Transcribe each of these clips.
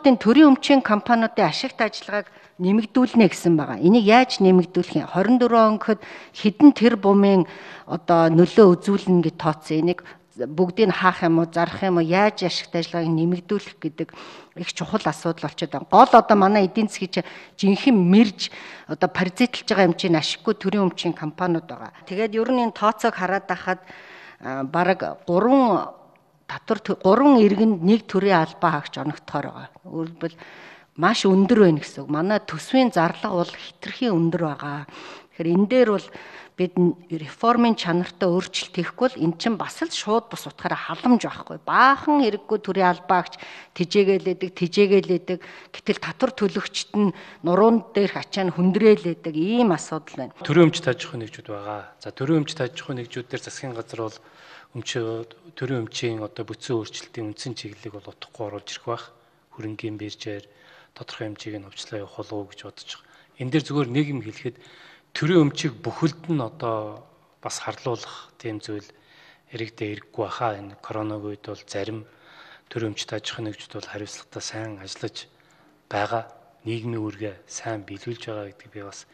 Төрийн өмчийн компаниудын ашигт ажиллагааг нэмэгдүүлнэ гэсэн байгаа. Энийг яаж нэмэгдүүлэх юм? 24 он гэхэд хэдэн тэрбумын нөлөө үзүүлнэ гэж тооцсон. Энийг бүгдийг хаах юм уу, зарах юм уу, яаж ашигт ажиллагааг нэмэгдүүлэх гэдэг их чухал асуудал болчиход байна. Гол манай эдийн засгийн жинхэнэ мэрж паразитлж байгаа хэмжээний ашиггүй төрийн өмчийн компаниуд байгаа. Тэгээд ер нь энэ тооцоог хараад байхад бараг 3 иргэнд нэг төрийн албаа хаагч оногдохоор байгаа. Өөрөлдвөл маш өндөр байна гэсэн үг. Манай төсвийн зарлага бол хэтэрхий өндөр байгаа. Тэгэхээр энэ дээр бол бид реформын чанартай өөрчлөлт хийхгүй бол эн чинь бас л шууд бус утгаараа халамж байхгүй. Баахан хэрэггүй төрийн албаагч тэжээгэлээдэг. Гэтэл татвар төлөгчд нь нуруун дээрх ачаа нь хүндрээлээдэг ийм асуудал байна. Төрийн өмч тааж ахуйн нэгжүүд байгаа. За төрийн өмч тааж ахуйн нэгжүүд дээр засгийн газар бол төрийн өмчийн бүтцийн өөрчлөлтийн үндсэн чиглэлийг бол утгагүй оруулж ирэх байх. Хөрөнгийн биржээр тодорхой хэмжээг нь өвчлөө явах болов уу гэж бодож байгаа. Энэ дээр зүгээр нэг юм хэлэхэд төрийн өмчийг бүхэлд нь бас харлуулах тийм зүйл иргэдээ хэрэггүй баха. Энэ коронавигийн үед бол зарим төрийн өмч тааж ахуйн нэгжүүд бол хариуцлагатай сайн ажиллаж байгаа. Нийгмийн үүргээ сайн биелүүлж байгаа гэдгийг би бас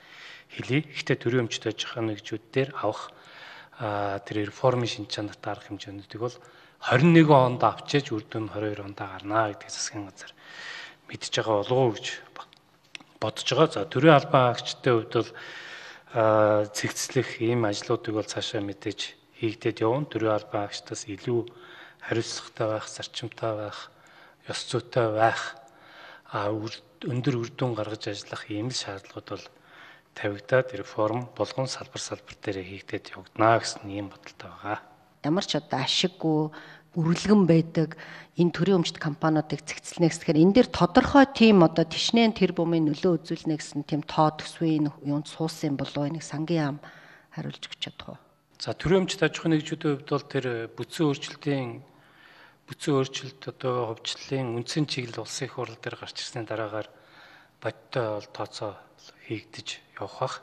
хэлье. Гэхдээ төрийн өмч тааж ахуйн нэгжүүд дээр авах тэр реформын шинж чанартай арга хэмжээнүүдийг бол 21 онд авчиж үр дүн 22 онд гарнаа гэдгийг засгийн газар мэдж байгаа болов уу гэж бодож байгаа. За төрийн албан хаагчдын хувьд бол цэгцлэх ийм ажлуудыг бол цаашаа мэдээж хийгдээд явна. Төрийн албан хаагчдаас илүү хариуцлагатай байх, зарчимтай байх, ёс зүйтэй байх, өндөр үр дүн гаргаж ажиллах ийм л шаардлагууд бол тавигдаад реформ болгон салбар дээр хийгдээд явагдана гэсэн ийм бодолтой байгаа. Ямар ч ашиггүй үргэлгэн байдаг энэ төрийн өмчт компаниудыг цэгцлэнэ гэхээр энэ дээр тодорхой тийм тишнээн тэрбумын нөлөө үзүүлнэ гэсэн тийм тоо төсвийн юунд суусан болов энийг сангийн ам хариулж өгч чадах уу? За төрийн өмчт аж ахуйн нэгжүүдийн хувьд бол тэр бүтцийн өөрчлөлт хувьчлалын үндсэн чиглэл улсын их хурал дээр гарч ирсний дараагаар бодтой бол тооцоо хийгдэж явах бах.